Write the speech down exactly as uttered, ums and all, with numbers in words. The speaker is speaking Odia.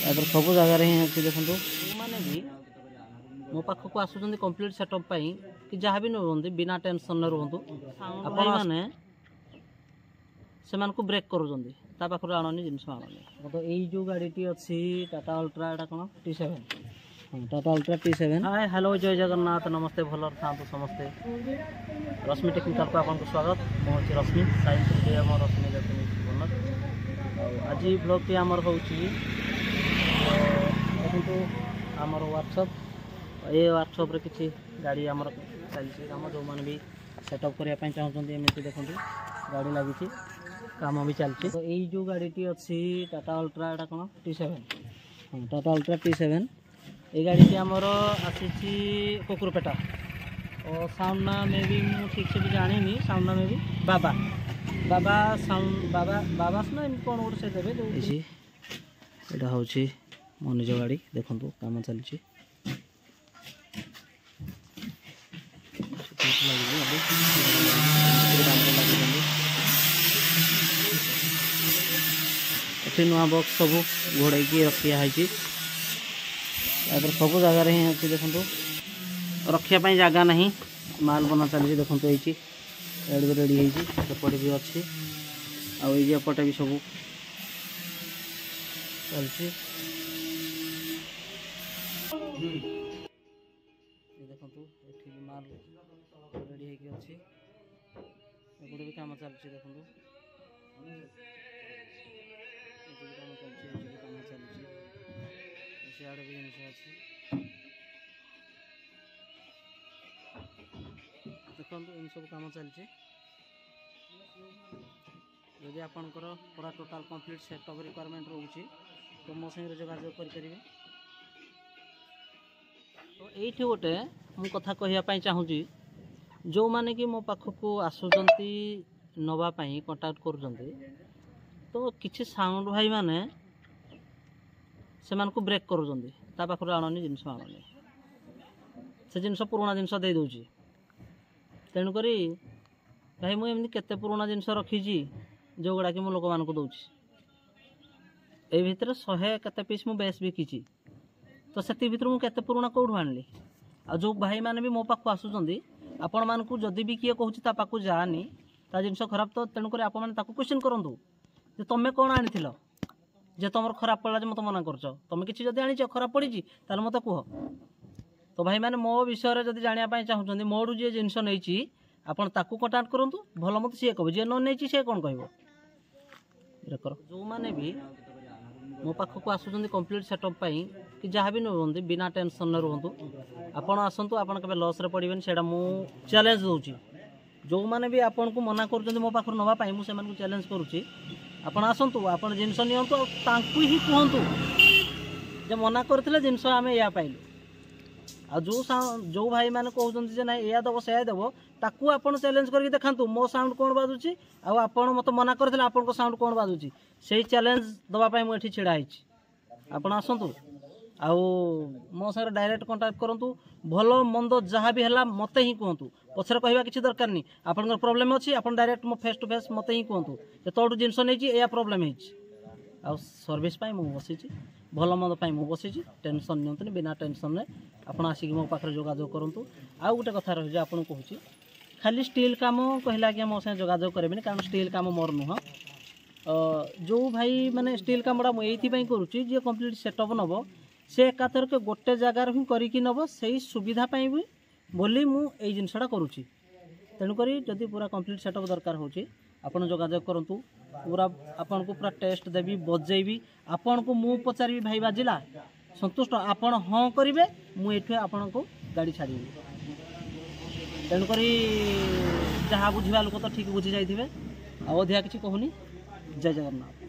ତାପରେ ସବୁ ଜାଗାରେ ହିଁ ଅଛି ଦେଖନ୍ତୁ। ଯେଉଁମାନେ ବି ମୋ ପାଖକୁ ଆସୁଛନ୍ତି କମ୍ପ୍ଲିଟ୍ ସେଟଅପ୍ ପାଇଁ କି ଯାହା ବି ନେଉଛନ୍ତି, ବିନା ଟେନସନ୍ରେ ରୁହନ୍ତୁ। ଆପଣମାନେ ସେମାନଙ୍କୁ ବ୍ରେକ୍ କରୁଛନ୍ତି, ତା ପାଖରୁ ଆଣନି, ଜିନିଷ ଆଣନି। ତ ଏଇ ଯେଉଁ ଗାଡ଼ିଟି ଅଛି ଟାଟା ଅଲ୍ଟ୍ରା, ଏଇଟା କ'ଣ ଟି ସେଭେନ୍? ହଁ, ଟାଟା ଅଲ୍ଟ୍ରା ଟି ସେଭେନ୍। ହାଏ, ହ୍ୟାଲୋ, ଜୟ ଜଗନ୍ନାଥ, ନମସ୍ତେ, ଭଲରେ ଥାଆନ୍ତୁ ସମସ୍ତେ। ରଶ୍ମି ଟେକ୍ନିକାଲକୁ ଆପଣଙ୍କୁ ସ୍ୱାଗତ। ମୁଁ ହେଉଛି ରଶ୍ମି, ସାଇନ୍ସ ଆମ ରଶ୍ମି ଇଲେକ୍ଟ୍ରୋନିକ୍ସ ଓନର୍। ଆଉ ଆଜି ବ୍ଲଗ୍ଟି ଆମର ହେଉଛି, ଦେଖନ୍ତୁ ଆମର ୱାର୍କସପ୍। ଏ ୱାର୍କସପ୍ରେ କିଛି ଗାଡ଼ି ଆମର ଚାଲିଛି କାମ। ଯେଉଁମାନେ ବି ସେଟଅପ୍ କରିବା ପାଇଁ ଚାହୁଁଛନ୍ତି, ଏମିତି ଦେଖନ୍ତୁ ଗାଡ଼ି ଲାଗିଛି, କାମ ବି ଚାଲିଛି। ତ ଏଇ ଯେଉଁ ଗାଡ଼ିଟି ଅଛି ଟାଟା ଅଲ୍ଟ୍ରା, ଏଇଟା କ'ଣ ଟି ସେଭେନ୍? ହଁ, ଟାଟା ଅଲ୍ଟ୍ରା ଟି ସେଭେନ୍। ଏଇ ଗାଡ଼ିଟି ଆମର ଆସିଛି କୁକୁରପେଟା ଓ ସାଉଣ୍ଡ ନା ମେ ବି ମୁଁ ଠିକ୍ସେ ବି ଜାଣିନି। ସାଉଣ୍ଡ ନା ମେ ବି ବାବା ବାବା ସାଉଣ୍ଡ, ବାବା ବାବାସ ନା ଏମିତି କ'ଣ ଗୋଟେ ସେ ଦେବେ ଯେଉଁ। ଏଇଟା ହେଉଛି ମୋ ନିଜ ଗାଡ଼ି, ଦେଖନ୍ତୁ କାମ ଚାଲିଛି। ଏଠି ନୂଆ ବକ୍ସ ସବୁ ଘୋଡ଼େଇକି ରଖିଆ ହେଇଛି। ତାପରେ ସବୁ ଜାଗାରେ ହିଁ ଅଛି ଦେଖନ୍ତୁ, ରଖିବା ପାଇଁ ଜାଗା ନାହିଁ। ମାଲ ବନା ଚାଲିଛି ଦେଖନ୍ତୁ, ହେଇଛି ଏଆଡ଼େ ବି ରେଡ଼ି ହେଇଛି, ସେପଟେ ବି ଅଛି, ଆଉ ଏଇ ଯେ ଏପଟେ ବି ସବୁ ଚାଲିଛି। ଦେଖନ୍ତୁ ଏଠି ବି ମାଲ ରେଡ଼ି ହେଇକି ଅଛି, ଏପଟେ ବି କାମ ଚାଲିଛି ଦେଖନ୍ତୁ। ଏଠି ବି କାମ ଚାଲିଛି, ଏଠି ବି କାମ ଚାଲିଛି, ସିଆଡ଼େ ବି ଜିନିଷ ଅଛି ଦେଖନ୍ତୁ। ଏମିତି ସବୁ କାମ ଚାଲିଛି। ଯଦି ଆପଣଙ୍କର ପୁରା ଟୋଟାଲ୍ କମ୍ପ୍ଲିଟ୍ ସେଟଅପ୍ ରିକ୍ୱାରମେଣ୍ଟ ରହୁଛି, ତ ମୋ ସାଙ୍ଗରେ ଯୋଗାଯୋଗ କରିପାରିବେ। ତ ଏଇଠି ଗୋଟେ ମୁଁ କଥା କହିବା ପାଇଁ ଚାହୁଁଛି, ଯେଉଁମାନେ କି ମୋ ପାଖକୁ ଆସୁଛନ୍ତି ନେବା ପାଇଁ, କଣ୍ଟାକ୍ଟ କରୁଛନ୍ତି, ତ କିଛି ସାଉଣ୍ଡ ଭାଇମାନେ ସେମାନଙ୍କୁ ବ୍ରେକ୍ କରୁଛନ୍ତି, ତା ପାଖରୁ ଆଣନି, ଜିନିଷ ଆଣନି, ସେ ଜିନିଷ ପୁରୁଣା ଜିନିଷ ଦେଇଦେଉଛି। ତେଣୁକରି ଭାଇ, ମୁଁ ଏମିତି କେତେ ପୁରୁଣା ଜିନିଷ ରଖିଛି ଯେଉଁଗୁଡ଼ାକି ମୁଁ ଲୋକମାନଙ୍କୁ ଦେଉଛି। ଏଇ ଭିତରେ ଶହେ କେତେ ପିସ୍ ମୁଁ ବେସ୍ ବିକିଛି, ତ ସେତିକି ଭିତରୁ ମୁଁ କେତେ ପୁରୁଣା କେଉଁଠୁ ଆଣିଲି? ଆଉ ଯେଉଁ ଭାଇମାନେ ବି ମୋ ପାଖକୁ ଆସୁଛନ୍ତି, ଆପଣମାନଙ୍କୁ ଯଦି ବି କିଏ କହୁଛି ତା ପାଖକୁ ଯାଆନି, ତା ଜିନିଷ ଖରାପ, ତ ତେଣୁକରି ଆପଣମାନେ ତାକୁ କ୍ୱେଶ୍ଚିନ୍ କରନ୍ତୁ ଯେ ତୁମେ କ'ଣ ଆଣିଥିଲ ଯେ ତୁମର ଖରାପ ପଡ଼ିଲା ଯେ ମୋତେ ମନା କରୁଛ? ତୁମେ କିଛି ଯଦି ଆଣିଛ ଖରାପ ପଡ଼ିଛି, ତାହେଲେ ମୋତେ କୁହ। ତ ଭାଇମାନେ ମୋ ବିଷୟରେ ଯଦି ଜାଣିବା ପାଇଁ ଚାହୁଁଛନ୍ତି, ମୋଠୁ ଯିଏ ଜିନିଷ ନେଇଛି ଆପଣ ତାକୁ କଣ୍ଟାକ୍ଟ କରନ୍ତୁ, ଭଲ ମତେ ସିଏ କହିବ। ଯିଏ ନ ନେଇଛି ସିଏ କ'ଣ କହିବ? କର। ଯେଉଁମାନେ ବି ମୋ ପାଖକୁ ଆସୁଛନ୍ତି କମ୍ପ୍ଲିଟ୍ ସେଟଅପ୍ ପାଇଁ କି ଯାହା ବି ନେଉଛନ୍ତି, ବିନା ଟେନସନ୍ରେ ରୁହନ୍ତୁ। ଆପଣ ଆସନ୍ତୁ, ଆପଣ କେବେ ଲସ୍ରେ ପଡ଼ିବେନି, ସେଇଟା ମୁଁ ଚ୍ୟାଲେଞ୍ଜ ଦେଉଛି। ଯେଉଁମାନେ ବି ଆପଣଙ୍କୁ ମନା କରୁଛନ୍ତି ମୋ ପାଖରୁ ନେବା ପାଇଁ, ମୁଁ ସେମାନଙ୍କୁ ଚ୍ୟାଲେଞ୍ଜ କରୁଛି। ଆପଣ ଆସନ୍ତୁ, ଆପଣ ଜିନିଷ ନିଅନ୍ତୁ, ଆଉ ତାଙ୍କୁ ହିଁ କୁହନ୍ତୁ ଯେ ମନା କରିଥିଲେ, ଜିନିଷ ଆମେ ଏଇଆ ପାଇଲୁ। ଆଉ ଯେଉଁ ଯେଉଁ ଭାଇମାନେ କହୁଛନ୍ତି ଯେ ନାଇଁ ଏଇଆ ଦେବ ସେଇଆ ଦେବ, ତାକୁ ଆପଣ ଚ୍ୟାଲେଞ୍ଜ କରିକି ଦେଖାନ୍ତୁ ମୋ ସାଉଣ୍ଡ କ'ଣ ବାଜୁଛି, ଆଉ ଆପଣ ମୋତେ ମନା କରିଥିଲେ, ଆପଣଙ୍କ ସାଉଣ୍ଡ କ'ଣ ବାଜୁଛି। ସେଇ ଚ୍ୟାଲେଞ୍ଜ ଦେବା ପାଇଁ ମୁଁ ଏଠି ଛିଡ଼ା ହେଇଛି। ଆପଣ ଆସନ୍ତୁ ଆଉ ମୋ ସାଙ୍ଗରେ ଡାଇରେକ୍ଟ କଣ୍ଟାକ୍ଟ କରନ୍ତୁ। ଭଲ ମନ୍ଦ ଯାହା ବି ହେଲା ମୋତେ ହିଁ କୁହନ୍ତୁ, ପଛରେ କହିବା କିଛି ଦରକାର ନାହିଁ। ଆପଣଙ୍କର ପ୍ରୋବ୍ଲେମ୍ ଅଛି, ଆପଣ ଡାଇରେକ୍ଟ ମୋ ଫେସ୍ ଟୁ ଫେସ୍ ମୋତେ ହିଁ କୁହନ୍ତୁ ଯେ ତୋଠୁ ଜିନିଷ ନେଇଛି, ଏଇଆ ପ୍ରୋବ୍ଲେମ୍ ହେଇଛି। ଆଉ ସର୍ଭିସ୍ ପାଇଁ ମୁଁ ବସିଛି, ଭଲ ମନ୍ଦ ପାଇଁ ମୁଁ ବସିଛି। ଟେନସନ୍ ନିଅନ୍ତୁନି, ବିନା ଟେନସନ୍ରେ ଆପଣ ଆସିକି ମୋ ପାଖରେ ଯୋଗାଯୋଗ କରନ୍ତୁ। ଆଉ ଗୋଟେ କଥା ରହିଛି ଆପଣଙ୍କୁ କହୁଛି, ଖାଲି ଷ୍ଟିଲ୍ କାମ କହିଲେ ଆଜ୍ଞା ମୋ ସାଙ୍ଗେ ଯୋଗାଯୋଗ କରିବେନି, କାରଣ ଷ୍ଟିଲ୍ କାମ ମୋର ନୁହଁ। ଯେଉଁ ଭାଇ ମାନେ ଷ୍ଟିଲ୍ କାମଟା ମୁଁ ଏଇଥିପାଇଁ କରୁଛି, ଯିଏ କମ୍ପ୍ଲିଟ୍ ସେଟଅପ୍ ନେବ ସେ ଏକାଥରକେ ଗୋଟେ ଜାଗାରୁ ହିଁ କରିକି ନେବ, ସେଇ ସୁବିଧା ପାଇଁ ବି ବୋଲି ମୁଁ ଏଇ ଜିନିଷଟା କରୁଛି। ତେଣୁକରି ଯଦି ପୁରା କମ୍ପ୍ଲିଟ୍ ସେଟଅପ୍ ଦରକାର ହେଉଛି, ଆପଣ ଯୋଗାଯୋଗ କରନ୍ତୁ। ପୁରା ଆପଣଙ୍କୁ ପୁରା ଟେଷ୍ଟ ଦେବି, ବଜେଇବି, ଆପଣଙ୍କୁ ମୁଁ ପଚାରିବି ଭାଇ ବାଜିଲା, ସନ୍ତୁଷ୍ଟ? ଆପଣ ହଁ କରିବେ, ମୁଁ ଏଠୁ ଆପଣଙ୍କୁ ଗାଡ଼ି ଛାଡ଼ିବି। ତେଣୁକରି ଯାହା ବୁଝିବା ଲୋକ ତ ଠିକ୍ ବୁଝି ଯାଇଥିବେ, ଆଉ ଅଧିକା କିଛି କହୁନି। ଜୟ ଜଗନ୍ନାଥ।